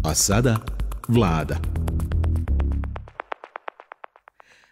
A sada Vlada.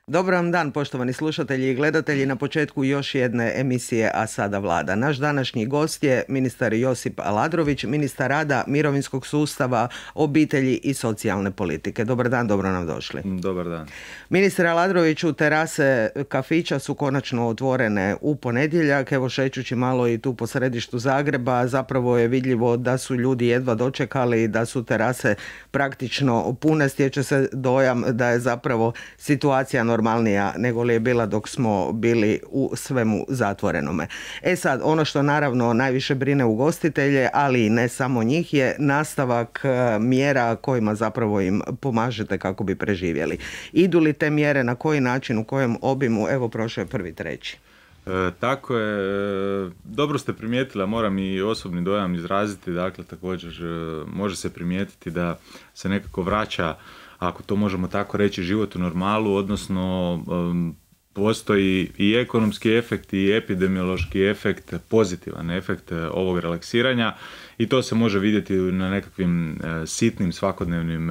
Dobar vam dan, poštovani slušatelji i gledatelji, na početku još jedne emisije A sada Vlada. Naš današnji gost je ministar Josip Aladrović, ministar rada, mirovinskog sustava, obitelji i socijalne politike. Dobar dan, dobro nam došli. Dobar dan. Ministar Aladroviću, terase kafića su konačno otvorene u ponedjeljak. Evo, šećući malo i tu po središtu Zagreba, zapravo je vidljivo da su ljudi jedva dočekali, da su terase praktično pune. Stječe se dojam da je zapravo situacija normalnija nego li je bila dok smo bili u svemu zatvorenome. E sad, ono što naravno najviše brine ugostitelje, ali i ne samo njih, je nastavak mjera kojima zapravo im pomažete kako bi preživjeli. Idu li te mjere, na koji način, u kojem obimu? Evo, prošao je 1.3. Tako je, dobro ste primijetili, a moram i osobni dojam izraziti, dakle također može se primijetiti da se nekako vraća, ako to možemo tako reći, život u normalu, odnosno postoji i ekonomski efekt i epidemiološki efekt, pozitivan efekt ovog relaksiranja i to se može vidjeti na nekakvim sitnim svakodnevnim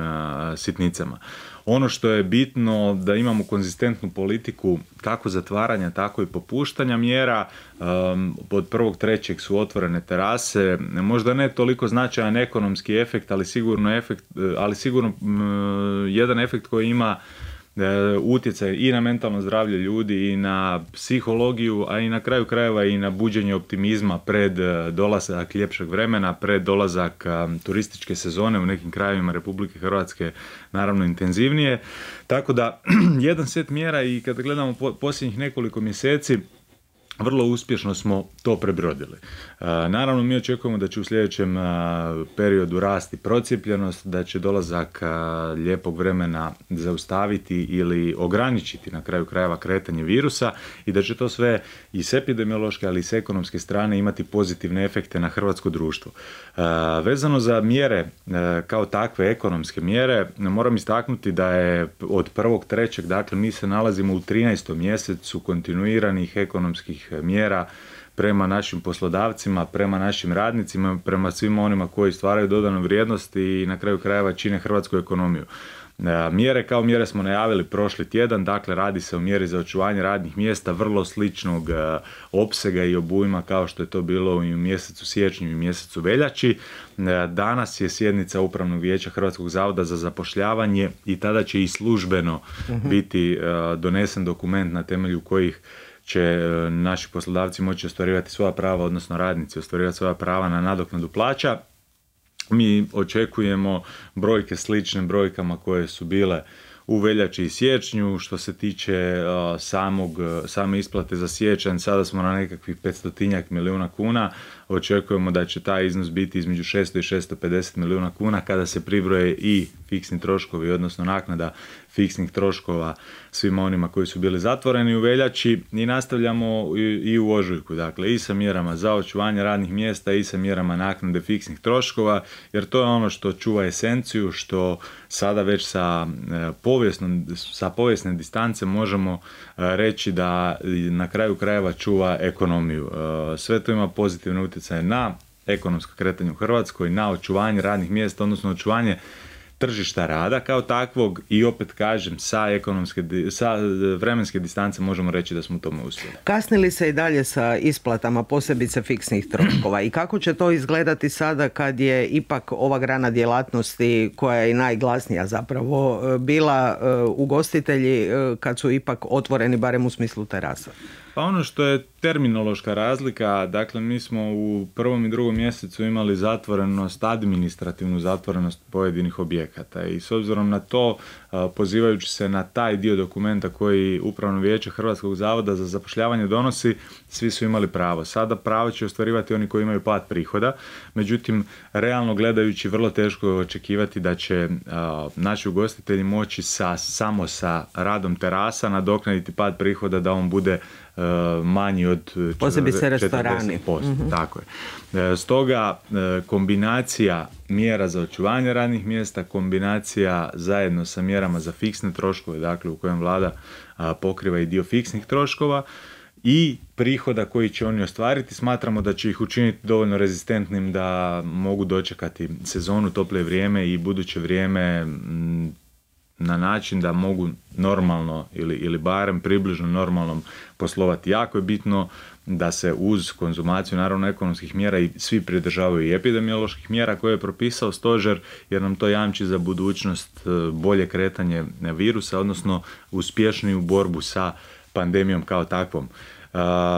sitnicama. Ono što je bitno da imamo konzistentnu politiku kako zatvaranja, tako i popuštanja mjera. Od 1.3. su otvorene terase, možda ne toliko značajan ekonomski efekt, ali sigurno jedan efekt koji ima utjecaj i na mentalno zdravlje ljudi i na psihologiju, a i na kraju krajeva i na buđenje optimizma pred dolazak ljepšeg vremena, pred dolazak turističke sezone u nekim krajevima Republike Hrvatske, naravno intenzivnije. Tako da jedan set mjera, i kada gledamo posljednjih nekoliko mjeseci, vrlo uspješno smo to prebrodili. Naravno, mi očekujemo da će u sljedećem periodu rasti procijepljenost, da će dolazak lijepog vremena zaustaviti ili ograničiti na kraju krajeva kretanje virusa i da će to sve i s epidemiološke, ali i s ekonomske strane imati pozitivne efekte na hrvatsko društvo. Vezano za mjere kao takve ekonomske mjere, moram istaknuti da je od 1.3. dakle mi se nalazimo u 13. mjesecu kontinuiranih ekonomskih mjera prema našim poslodavcima, prema našim radnicima, prema svima onima koji stvaraju dodanu vrijednost i na kraju krajeva čine hrvatsku ekonomiju. Mjere kao mjere smo najavili prošli tjedan, dakle radi se o mjeri za očuvanje radnih mjesta vrlo sličnog opsega i obujma kao što je to bilo i u mjesecu siječnju i mjesecu veljači. Danas je sjednica Upravnog vijeća Hrvatskog zavoda za zapošljavanje i tada će i službeno biti donesen dokument na temelju kojih će naši poslodavci moći ostvarivati svoja prava, odnosno radnici ostvarivati svoja prava na nadoknadu plaća. Mi očekujemo brojke slične brojkama koje su bile u veljači i siječnju. Što se tiče same isplate za siječanj, sada smo na nekakvih 500 milijuna kuna. Očekujemo da će taj iznos biti između 600 i 650 milijuna kuna kada se pribroje i fiksni troškovi, odnosno naknada fiksnih troškova svima onima koji su bili zatvoreni u veljači, i nastavljamo i u ožujku, dakle i sa mjerama za očuvanje radnih mjesta i sa mjerama naknade fiksnih troškova, jer to je ono što čuva esenciju, što sada već sa povijesne distance možemo reći da na kraju krajeva čuva ekonomiju. Sve to ima pozitivne utjecaje na ekonomsko kretanje u Hrvatskoj, na očuvanje radnih mjesta, odnosno očuvanje tržišta rada kao takvog, i opet kažem sa vremenske distance možemo reći da smo u tome uspjeli. Kasnili se i dalje sa isplatama posebice fiksnih troškova i kako će to izgledati sada kad je ipak ova grana djelatnosti koja je i najglasnija zapravo bila ugostitelji kad su ipak otvoreni barem u smislu terasa? Pa ono što je terminološka razlika, dakle mi smo u 1. i 2. mjesecu imali zatvorenost, administrativnu zatvorenost pojedinih objekata i s obzirom na to, pozivajući se na taj dio dokumenta koji Upravno vijeće Hrvatskog zavoda za zapošljavanje donosi, svi su imali pravo. Sada pravo će ostvarivati oni koji imaju pad prihoda, međutim realno gledajući vrlo teško je očekivati da će naši ugostitelji moći samo sa radom terasa nadoknaditi pad prihoda da on bude manji od 40%. Tako je. Stoga kombinacija mjera za očuvanje radnih mjesta, kombinacija zajedno sa mjerama za fiksne troškove, dakle u kojem vlada pokriva i dio fiksnih troškova, i prihoda koji će oni ostvariti. Smatramo da će ih učiniti dovoljno rezistentnim da mogu dočekati sezonu, tople vrijeme i buduće vrijeme na način da mogu normalno ili barem približno normalnom poslovati. Jako je bitno da se uz konzumaciju naravno ekonomskih mjera i svi pridržavaju i epidemioloških mjera koje je propisao stožer, jer nam to jamči za budućnost bolje kretanje virusa, odnosno uspješniju borbu sa pandemijom kao takvom.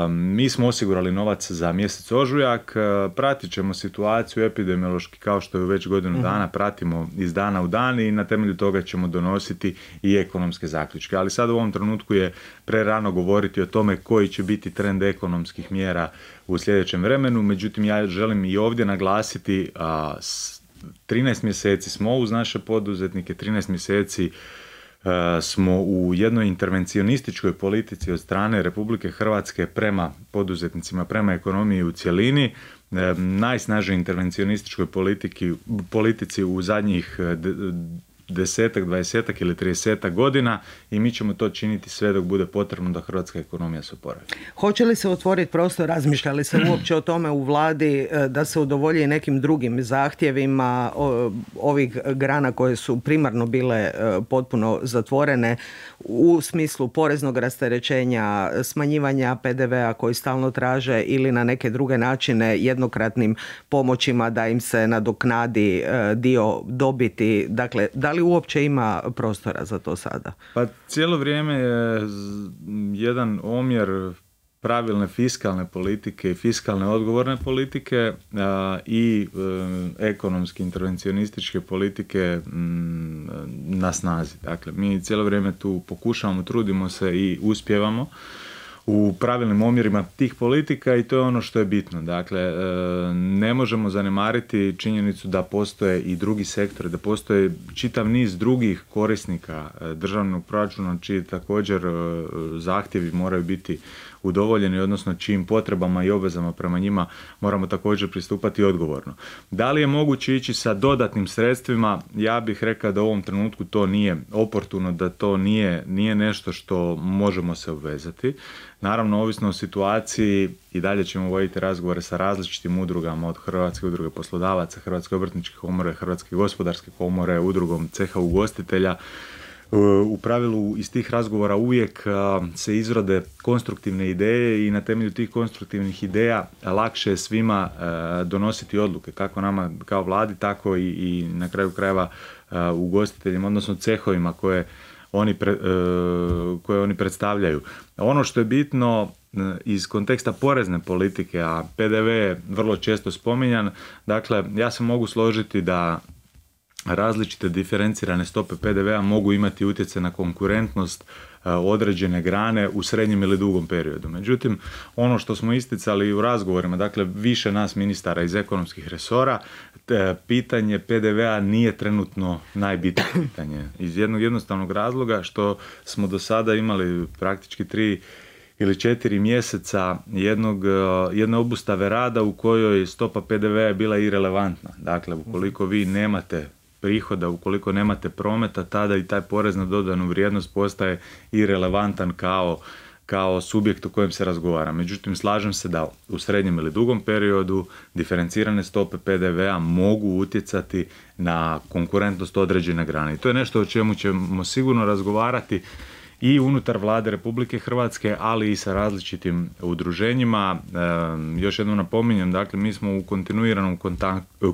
Mi smo osigurali novac za mjesec ožujak, pratit ćemo situaciju epidemiološki kao što je već godinu dana, pratimo iz dana u dan i na temelju toga ćemo donositi i ekonomske zaključke. Ali sad u ovom trenutku je prerano govoriti o tome koji će biti trend ekonomskih mjera u sljedećem vremenu, međutim ja želim i ovdje naglasiti 13 mjeseci smo uz naše poduzetnike, 13 mjeseci smo u jednoj intervencionističkoj politici od strane Republike Hrvatske prema poduzetnicima, prema ekonomiji u cjelini, najsnažnijoj intervencionističkoj politici u zadnjih 10, 20 ili 30 godina i mi ćemo to činiti sve dok bude potrebno da hrvatska ekonomija se oporavi. Hoće li se otvoriti prostor, razmišljali se uopće o tome u vladi da se udovolji nekim drugim zahtjevima ovih grana koje su primarno bile potpuno zatvorene u smislu poreznog rasterećenja, smanjivanja PDV-a koji stalno traže ili na neke druge načine jednokratnim pomoćima da im se nadoknadi dio dobiti. Dakle, da li uopće ima prostora za to sada? Pa cijelo vrijeme je jedan omjer pravilne fiskalne politike i fiskalne odgovorne politike i ekonomski intervencionističke politike na snazi. Dakle, mi cijelo vrijeme tu pokušavamo, trudimo se i uspijevamo u pravilnim omjerima tih politika i to je ono što je bitno. Dakle, ne možemo zanemariti činjenicu da postoje i drugi sektori, da postoje čitav niz drugih korisnika državnog proračuna čiji također zahtjevi moraju biti udovoljeni, odnosno čijim potrebama i obvezama prema njima moramo također pristupati odgovorno. Da li je moguće ići sa dodatnim sredstvima? Ja bih rekao da u ovom trenutku to nije oportuno, da to nije nešto što možemo se obvezati. Naravno, ovisno o situaciji i dalje ćemo voditi razgovore sa različitim udrugama od Hrvatske udruge poslodavaca, Hrvatske obrtničke komore, Hrvatske gospodarske komore, udrugom ceha ugostitelja. U pravilu iz tih razgovora uvijek se izrode konstruktivne ideje i na temelju tih konstruktivnih ideja lakše je svima donositi odluke, kako nama kao vladi, tako i na kraju krajeva ugostiteljima, odnosno cehovima koje oni predstavljaju. Ono što je bitno iz konteksta porezne politike, a PDV je vrlo često spominjan, dakle ja se mogu složiti da različite diferencirane stope PDV-a mogu imati utjecaj na konkurentnost određene grane u srednjem ili dugom periodu. Međutim, ono što smo isticali u razgovorima, dakle više nas ministara iz ekonomskih resora, pitanje PDV-a nije trenutno najbitnije pitanje. Iz jednog jednostavnog razloga što smo do sada imali praktički 3 ili 4 mjeseca jedne obustave rada u kojoj stopa PDV-a je bila irelevantna. Dakle, ukoliko vi nemate prihoda, ukoliko nemate prometa, tada i taj porez na dodanu vrijednost postaje irelevantan kao subjekt o kojem se razgovara. Međutim, slažem se da u srednjem ili dugom periodu diferencirane stope PDV-a mogu utjecati na konkurentnost određene grane. I to je nešto o čemu ćemo sigurno razgovarati i unutar Vlade Republike Hrvatske, ali i sa različitim udruženjima. Još jednom napominjem, dakle, mi smo u kontinuiranom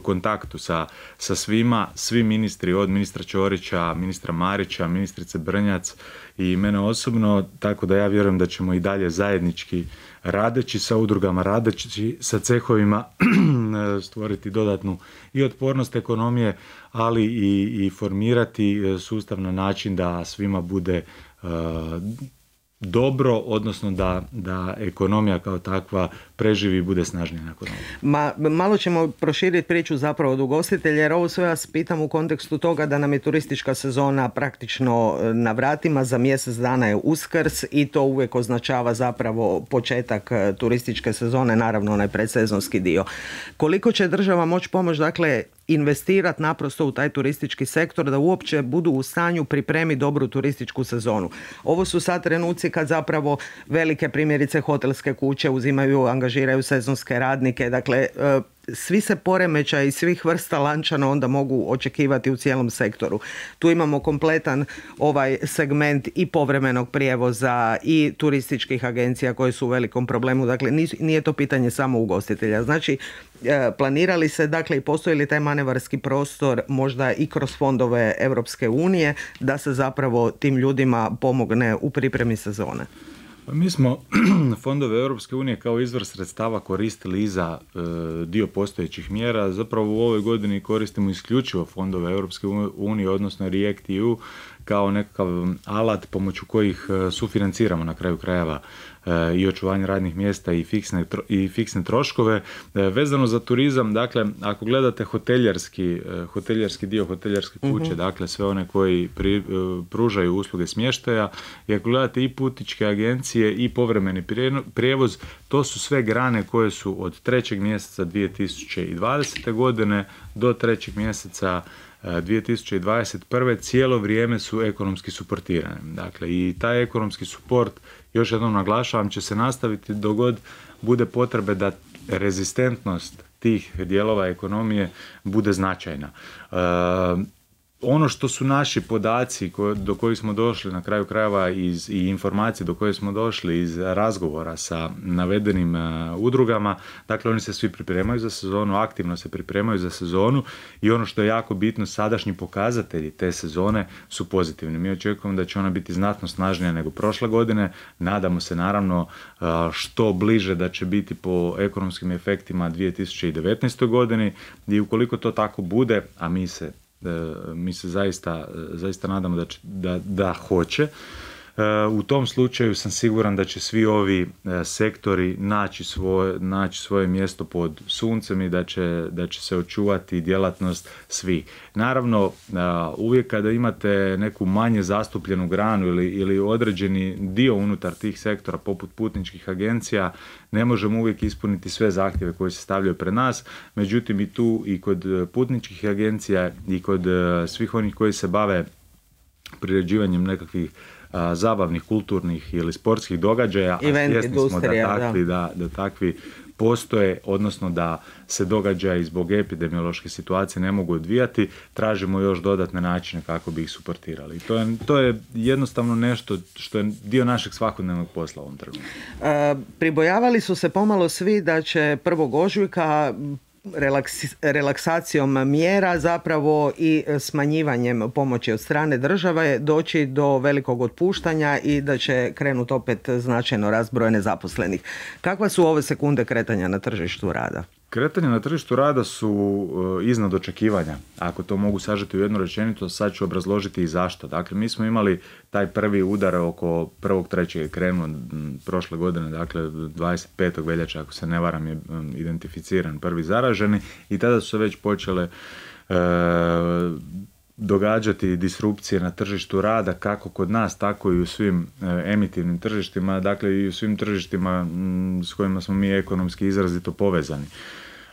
kontaktu sa svima, svi ministri, od ministra Ćorića, ministra Marića, ministrice Brnjac i mene osobno, tako da ja vjerujem da ćemo i dalje zajednički radeći sa udrugama, radeći sa cehovima stvoriti dodatnu i otpornost ekonomije, ali i formirati sustav na način da svima bude dobro, odnosno da ekonomija kao takva preživi i bude snažnije nakon ovoga. Malo ćemo proširiti priču zapravo od ugostitelja, jer ovo sve vas pitam u kontekstu toga da nam je turistička sezona praktično na vratima, za mjesec dana je Uskrs i to uvijek označava zapravo početak turističke sezone, naravno onaj predsezonski dio. Koliko će država moći pomoći, dakle, investirati naprosto u taj turistički sektor da uopće budu u stanju pripremiti dobru turističku sezonu. Ovo su sad trenuci kad zapravo velike, primjerice, hotelske kuće angažiraju sezonske radnike, dakle svi se poremećaji svih vrsta lančana onda mogu očekivati u cijelom sektoru. Tu imamo kompletan ovaj segment i povremenog prijevoza i turističkih agencija koje su u velikom problemu. Dakle, nije to pitanje samo ugostitelja. Znači, planirali se, dakle, i postoji li taj manevarski prostor možda i kroz fondove Europske unije da se zapravo tim ljudima pomogne u pripremi sezone? Mi smo fondove Europske unije kao izvor sredstava koristili i za dio postojećih mjera. Zapravo u ovoj godini koristimo isključivo fondove Europske unije, odnosno REACT-EU, kao nekakav alat pomoću kojih sufinanciramo na kraju krajeva i očuvanje radnih mjesta i fiksne troškove. Vezano za turizam, dakle, ako gledate hoteljerski dio, hoteljerske kuće, dakle sve one koji pružaju usluge smještaja, i ako gledate i putničke agencije i povremeni prijevoz, to su sve grane koje su od 3. mjeseca 2020. godine do 3. mjeseca 2021. cijelo vrijeme su ekonomski suportirane. Dakle, i taj ekonomski suport, još jednom naglašavam, će se nastaviti dok god bude potrebe da rezistentnost tih dijelova ekonomije bude značajna. Ono što su naši podaci do kojih smo došli na kraju krajeva i informacije do koje smo došli iz razgovora sa navedenim udrugama, dakle oni se svi pripremaju za sezonu, aktivno se pripremaju za sezonu i ono što je jako bitno, sadašnji pokazatelji te sezone su pozitivni. Mi očekujemo da će ona biti znatno snažnija nego prošle godine, nadamo se naravno što bliže da će biti po ekonomskim efektima 2019. godini i ukoliko to tako bude, a mi se zaista nadamo da hoće. U tom slučaju sam siguran da će svi ovi sektori naći svoje mjesto pod suncem i da će se očuvati djelatnost svih. Naravno, uvijek kada imate neku manje zastupljenu granu ili određeni dio unutar tih sektora poput putničkih agencija, ne možemo uvijek ispuniti sve zahtjeve koji se stavljaju pred nas. Međutim, i tu i kod putničkih agencija i kod svih onih koji se bave priređivanjem nekakvih zabavnih, kulturnih ili sportskih događaja, event, a svjesni smo da takvi postoje, odnosno da se događaji zbog epidemiološke situacije ne mogu odvijati, tražimo još dodatne načine kako bi ih suportirali. To je jednostavno nešto što je dio našeg svakodnevnog posla u ovom trenutku. Pribojavali su se pomalo svi da će 1. ožujka relaksacijom mjera zapravo i smanjivanjem pomoći od strane države doći do velikog otpuštanja i da će krenuti opet značajno rast broja nezaposlenih. Kakva su ove sekunde kretanja na tržištu rada? Kretanja na tržištu rada su iznad očekivanja. Ako to mogu sažeti u jednu rečenicu, sad ću obrazložiti i zašto. Dakle, mi smo imali taj prvi udar oko 1.3. krenuo prošle godine, dakle 25. veljače, ako se ne varam, je identificiran prvi zaraženi i tada su se već počele događati disrupcije na tržištu rada, kako kod nas, tako i u svim emitivnim tržištima, dakle i u svim tržištima s kojima smo mi ekonomski izrazito povezani.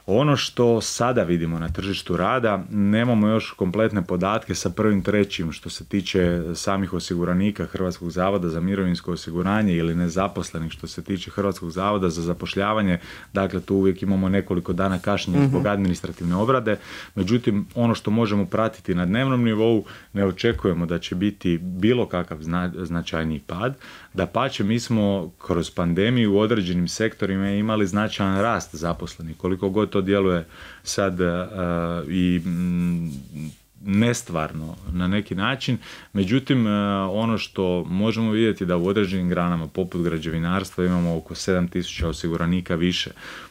Ono što sada vidimo na tržištu rada, nemamo još kompletne podatke sa 1.3. što se tiče samih osiguranika Hrvatskog zavoda za mirovinsko osiguranje ili nezaposlenih što se tiče Hrvatskog zavoda za zapošljavanje, dakle tu uvijek imamo nekoliko dana kašnjenja zbog administrativne obrade, međutim ono što možemo pratiti na dnevnom nivou, ne očekujemo da će biti bilo kakav značajniji pad. Dapače, mi smo kroz pandemiju u određenim sektorima imali značajan rast zaposlenih, koliko god to djeluje sad i nestvarno na neki način. Međutim, ono što možemo vidjeti da u određenim granama poput građevinarstva imamo oko 7.000 osiguranika više,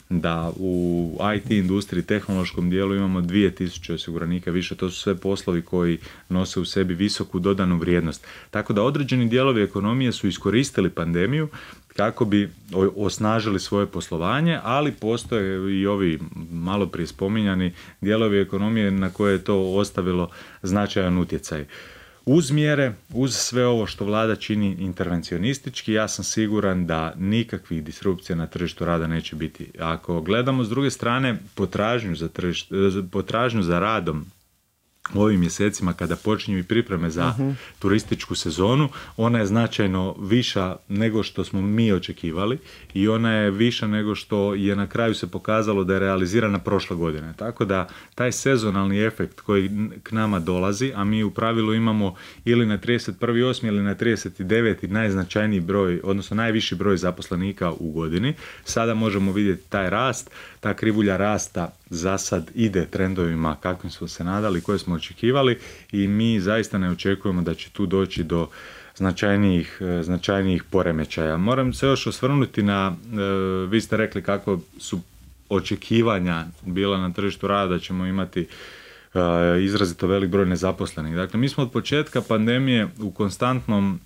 da u IT industriji, tehnološkom dijelu imamo 2.000 osiguranika više. To su sve poslovi koji nose u sebi visoku dodanu vrijednost. Tako da određeni dijelovi ekonomije su iskoristili pandemiju kako bi osnažili svoje poslovanje, ali postoje i ovi malo prije spominjani dijelovi ekonomije na koje je to ostavilo značajan utjecaj. Uz mjere, uz sve ovo što vlada čini intervencionistički, ja sam siguran da nikakvih disrupcija na tržištu rada neće biti. Ako gledamo s druge strane potražnju za radom u ovim mjesecima kada počinju i pripreme za turističku sezonu, ona je značajno viša nego što smo mi očekivali i ona je viša nego što je na kraju se pokazalo da je realizirana prošle godine. Tako da taj sezonalni efekt koji k nama dolazi, a mi u pravilu imamo ili na 31.8. ili na 39. najznačajniji broj, odnosno najviši broj zaposlenika u godini, sada možemo vidjeti taj rast, ta krivulja rasta za sad ide trendovima kakvim smo se nadali, koje smo očekivali i mi zaista ne očekujemo da će tu doći do značajnijih poremećaja. Moram se još osvrnuti na, vi ste rekli kako su očekivanja bila na tržištu rada da ćemo imati izrazito velik broj nezaposlenih. Dakle, mi smo od početka pandemije u konstantnom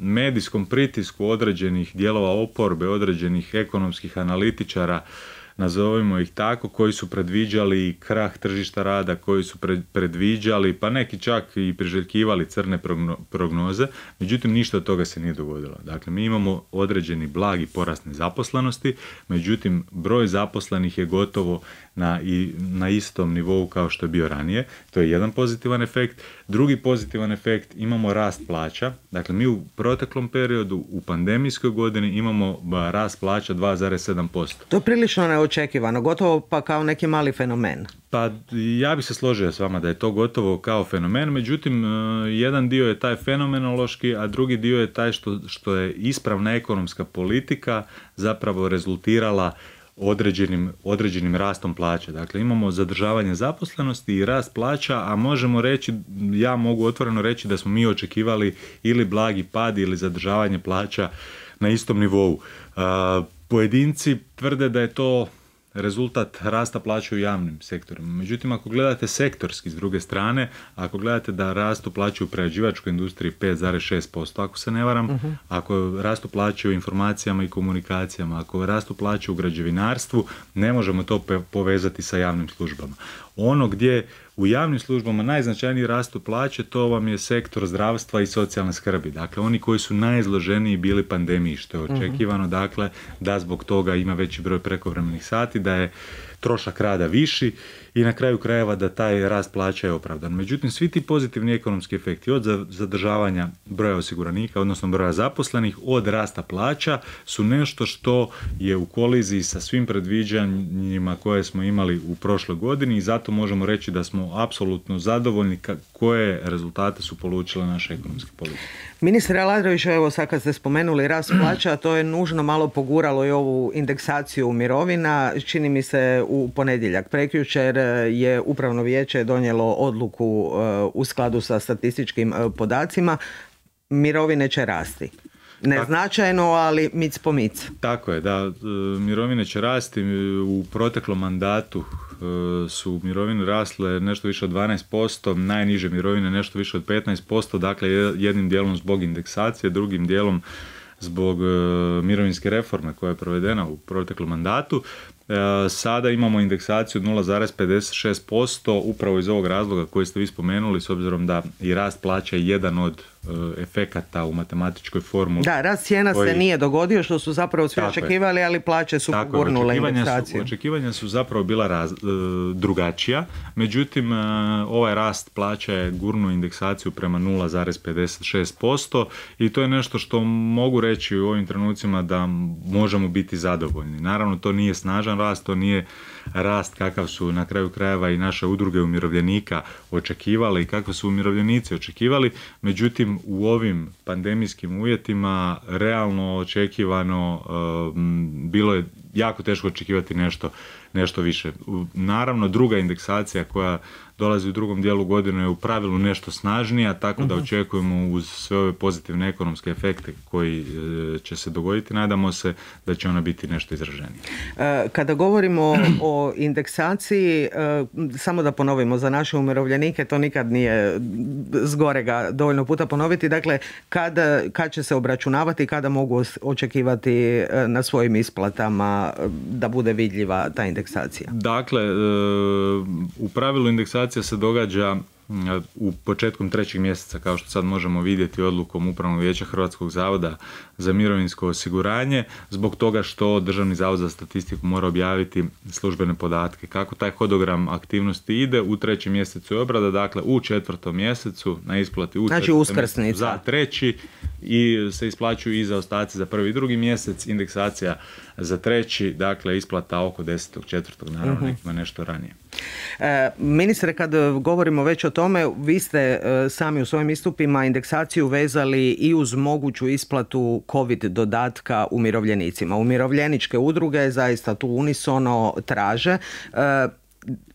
medijskom pritisku određenih dijelova oporbe, određenih ekonomskih analitičara, nazovimo ih tako, koji su predviđali krah tržišta rada, koji su predviđali, pa neki čak i priželjkivali crne prognoze, međutim ništa od toga se nije dogodilo. Dakle, mi imamo određeni blagi porast nezaposlenosti, međutim broj zaposlenih je gotovo na istom nivou kao što je bio ranije. To je jedan pozitivan efekt. Drugi pozitivan efekt, imamo rast plaća. Dakle, mi u proteklom periodu, u pandemijskoj godini imamo rast plaća 2,7%. To je prilično neočekivano, gotovo pa kao neki mali fenomen. Pa ja bih se složio s vama da je to gotovo kao fenomen, međutim jedan dio je taj fenomenološki, a drugi dio je taj što je ispravna ekonomska politika zapravo rezultirala određenim rastom plaća. Dakle, imamo zadržavanje zaposlenosti i rast plaća, a možemo reći, ja mogu otvoreno reći da smo mi očekivali ili blagi pad ili zadržavanje plaća na istom nivou. Pojedinci tvrde da je to rezultat rasta plaća u javnim sektorima. Međutim, ako gledate sektorski s druge strane, ako gledate da rastu plaće u prerađivačkoj industriji 5,6%, ako se ne varam, ako rastu plaće u informacijama i komunikacijama, ako rastu plaće u građevinarstvu, ne možemo to povezati sa javnim službama. Ono gdje u javnim službama najznačajniji rastu plaće, to vam je sektor zdravstva i socijalne skrbi. Dakle, oni koji su najizloženiji bili pandemiji, što je očekivano, dakle, da zbog toga ima veći broj prekovremenih sati, da je trošak rada viši i na kraju krajeva da taj rast plaća je opravdan. Međutim, svi ti pozitivni ekonomski efekti od zadržavanja broja osiguranika, odnosno broja zaposlenih, od rasta plaća su nešto što je u koliziji sa svim predviđanjima koje smo imali u prošloj godini i zato možemo reći da smo apsolutno zadovoljni koje rezultate su polučile naše ekonomske politike. Ministre Aladrović, evo sad kad ste spomenuli rast plaća, to je nužno malo poguralo i ovu indeksaciju mirovina. Čini mi se u ponedjeljak prekjučer je Upravno vijeće donijelo odluku u skladu sa statističkim podacima. Mirovine će rasti. Neznačajno, ali mic po mic. Tako je, da, mirovine će rasti. U proteklom mandatu su mirovine rasle nešto više od 12%, najniže mirovine nešto više od 15%, dakle jednim dijelom zbog indeksacije, drugim dijelom zbog mirovinske reforme koja je provedena u proteklom mandatu. Sada imamo indeksaciju od 0,56% upravo iz ovog razloga koji ste vi spomenuli, s obzirom da i rast plaća je jedan od efekata u matematičkoj formuli. Da, rast cijena se nije dogodio, što su zapravo svi očekivali, ali plaće su gurnule indeksaciju. Očekivanja su zapravo bila drugačija, međutim ovaj rast plaća je gurnuo indeksaciju prema 0,56% i to je nešto što mogu reći u ovim trenucima da možemo biti zadovoljni. Naravno, to nije snažan rast, to nije rast kakav su na kraju krajeva i naše udruge umirovljenika očekivali i kakve su umirovljenici očekivali, međutim u ovim pandemijskim uvjetima realno očekivano bilo je jako teško očekivati nešto više. Naravno, druga indeksacija koja dolazi u drugom dijelu godine je u pravilu nešto snažnija, tako da očekujemo uz sve ove pozitivne ekonomske efekte koji će se dogoditi, nadamo se da će ona biti nešto izraženija. Kada govorimo o indeksaciji, samo da ponovimo za naše umirovljenike, to nikad nije zgorega dovoljno puta ponoviti, dakle kad će se obračunavati, kada mogu očekivati na svojim isplatama da bude vidljiva ta indeksacija? Dakle, u pravilu indeksacija se događa u početkom 3. mjeseca, kao što sad možemo vidjeti odlukom Upravnog vijeća Hrvatskog zavoda za mirovinsko osiguranje, zbog toga što Državni zavod za statistiku mora objaviti službene podatke. Kako taj hodogram aktivnosti ide, u 3. mjesecu je obrada, dakle u 4. mjesecu na isplati u 4. mjesecu za 3. i se isplaćuju i zaostaci za 1. i 2. mjesec, indeksacija za 3. dakle isplata oko 10.4. naravno nekima nešto ranije. Ministre, kad govorimo već o tome, vi ste sami u svojim istupima indeksaciju vezali i uz moguću isplatu COVID dodatka umirovljenicima. Umirovljeničke udruge zaista tu unisono traže.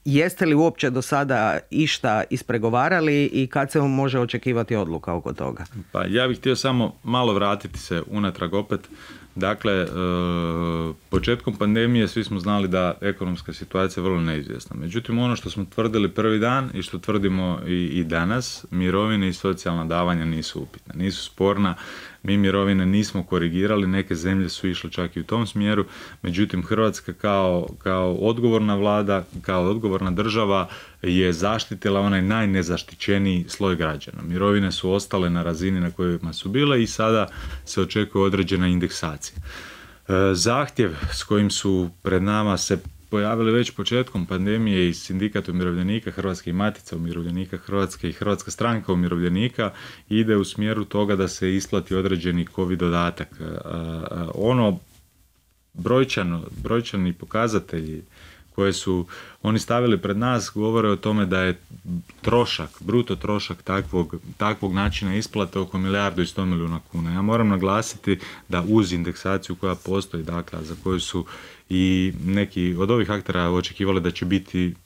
Jeste li uopće do sada išta ispregovarali i kad se može očekivati odluka oko toga? Pa ja bih htio samo malo vratiti se unatrag opet. Dakle, početkom pandemije svi smo znali da ekonomska situacija je vrlo neizvjesna. Međutim, ono što smo tvrdili prvi dan i što tvrdimo i danas, mirovine i socijalna davanja nisu upitna, nisu sporna. Mi mirovine nismo korigirali, neke zemlje su išle čak i u tom smjeru, međutim Hrvatska kao odgovorna vlada, kao odgovorna država je zaštitila onaj najnezaštićeniji sloj građana. Mirovine su ostale na razini na kojima su bile i sada se očekuje određena indeksacija. Zahtjev s kojim su pred nama se pojavili već početkom pandemije i Sindikat umirovljenika, Hrvatska matica umirovljenika Hrvatske i Hrvatska stranka umirovljenika ide u smjeru toga da se isplati određeni COVID dodatak. Ono brojčani pokazatelji koje su oni stavili pred nas govore o tome da je trošak, bruto trošak takvog načina isplate oko 1,1 milijarda kuna. Ja moram naglasiti da uz indeksaciju koja postoji, dakle, za koju su i neki od ovih aktera očekivali da će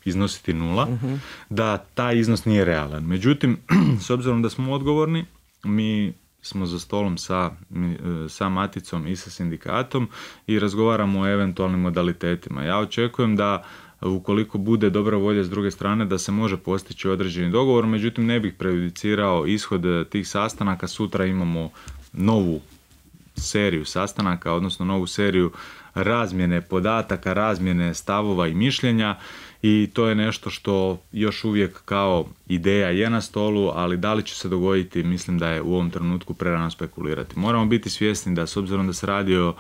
iznositi 0, da taj iznos nije realan. Međutim, s obzirom da smo odgovorni, mi smo za stolom sa maticom i sa sindikatom i razgovaramo o eventualnim modalitetima. Ja očekujem da ukoliko bude dobra volja s druge strane da se može postići određeni dogovor, međutim ne bih prejudicirao ishod tih sastanaka. Sutra imamo novu seriju sastanaka, odnosno novu seriju razmjene podataka, razmjene stavova i mišljenja i to je nešto što još uvijek kao ideja je na stolu, ali da li će se dogoditi, mislim da je u ovom trenutku prerano spekulirati. Moramo biti svjesni da s obzirom da se radi o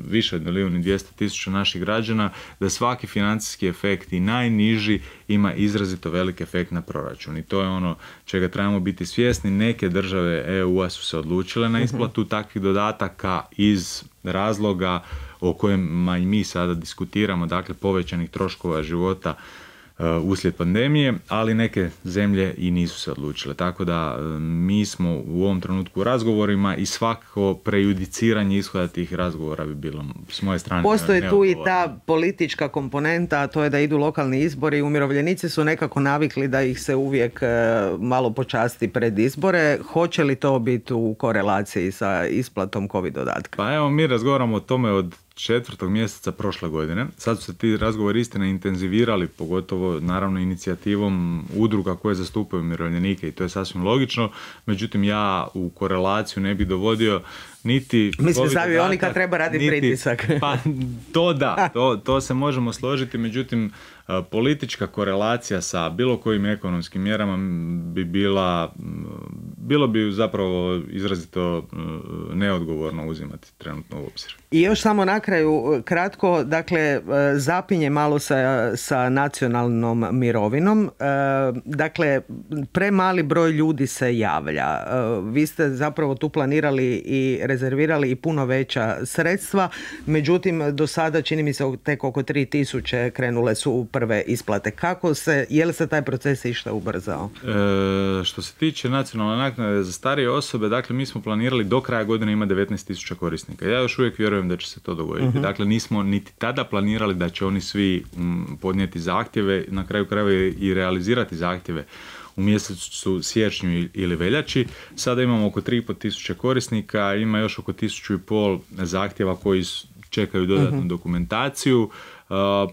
više od 1.200.000 naših građana, da svaki financijski efekt i najniži ima izrazito velik efekt na proračun i to je ono čega trebamo biti svjesni. Neke države EU-a su se odlučile na isplatu takvih dodataka iz razloga o kojima i mi sada diskutiramo, dakle povećanih troškova života uslijed pandemije, ali neke zemlje i nisu se odlučile. Tako da mi smo u ovom trenutku u razgovorima i svako prejudiciranje ishoda tih razgovora bi bilo s moje strane postoji tu i ta politička komponenta, a to je da idu lokalni izbori. Umirovljenici su nekako navikli da ih se uvijek malo počasti pred izbore. Hoće li to biti u korelaciji sa isplatom COVID dodatka? Pa evo, mi razgovaramo o tome od 4. mjeseca prošle godine. Sad su se ti razgovori istina intenzivirali, pogotovo naravno inicijativom udruga koje zastupaju umirovljenike i to je sasvim logično. Međutim, ja u korelaciju ne bih dovodio niti... Mislim, sami oni kad treba raditi pritisak. Pa to da, to se možemo složiti, međutim politička korelacija sa bilo kojim ekonomskim mjerama bi bilo bi zapravo izrazito neodgovorno uzimati trenutno u obzir. I još samo na kraju kratko, dakle zapinje malo sa nacionalnom mirovinom. Dakle, premali broj ljudi se javlja. Vi ste zapravo tu planirali i rezervirali i puno veća sredstva, međutim do sada čini mi se tek oko 3.000 krenule su prve isplate. Je li se taj proces išta ubrzao? Što se tiče nacionalne naknade, naknade za starije osobe, dakle mi smo planirali do kraja godine ima 19.000 korisnika. Ja još uvijek vjerujem da će se to dogoditi. Dakle, nismo niti tada planirali da će oni svi podnijeti zahtjeve, na kraju krajeva i realizirati zahtjeve u mjesecu siječnju ili veljači. Sada imamo oko 3.500 korisnika, ima još oko 1.500 zahtjeva koji čekaju dodatnu dokumentaciju.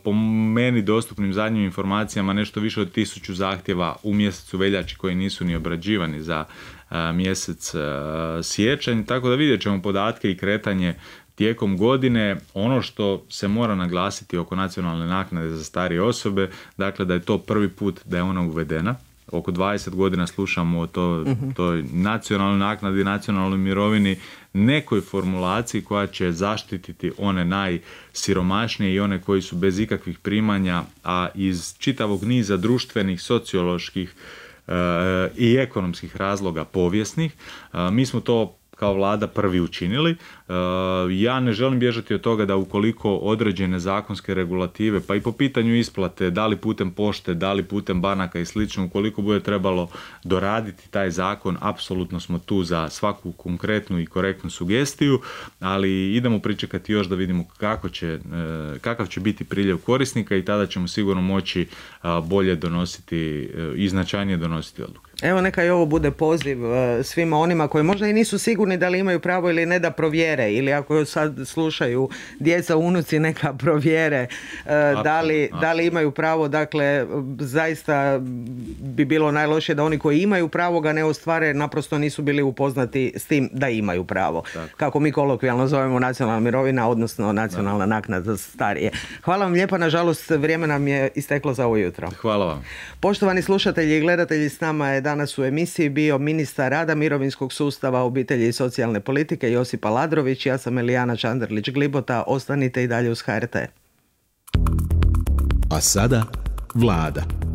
Po meni dostupnim zadnjim informacijama nešto više od 1.000 zahtjeva u mjesecu veljači koji nisu ni obrađivani za mjesec siječanj, tako da vidjet ćemo podatke i kretanje tijekom godine. Ono što se mora naglasiti oko nacionalne naknade za starije osobe, dakle da je to prvi put da je ona uvedena. Oko 20 godina slušamo o toj nacionalnoj naknadi, nacionalnoj mirovini, nekoj formulaciji koja će zaštititi one najsiromašnije i one koji su bez ikakvih primanja, a iz čitavog niza društvenih, socioloških i ekonomskih razloga povijesnih. Mi smo to kao vlada prvi učinili. Ja ne želim bježati od toga da ukoliko određene zakonske regulative, pa i po pitanju isplate, da li putem pošte, da li putem banaka i slično, ukoliko bude trebalo doraditi taj zakon, apsolutno smo tu za svaku konkretnu i korektnu sugestiju, ali idemo pričekati još da vidimo kakav će biti priljev korisnika i tada ćemo sigurno moći bolje donositi i značajnije donositi odluke. Evo neka i ovo bude poziv svima onima koji možda i nisu sigurni da li imaju pravo ili ne da provjere, ili ako sad slušaju djeca, unuci, neka provjere da li imaju pravo. Dakle, zaista bi bilo najlošije da oni koji imaju pravo ga ne ostvare, naprosto nisu bili upoznati s tim da imaju pravo. Tako. Kako mi kolokvijalno zovemo nacionalna mirovina, odnosno nacionalna naknada za starije. Hvala vam lijepa, nažalost vrijeme nam je isteklo za ovo jutro. Hvala vam. Poštovani slušatelji i gledatelji, s nama je danas u emisiji bio ministar rada, mirovinskog sustava, obitelji i socijalne politike Josip Aladrović. Ja sam Elijana Čanderlić-Glibota. Ostanite i dalje uz HRT. A sada Vlada.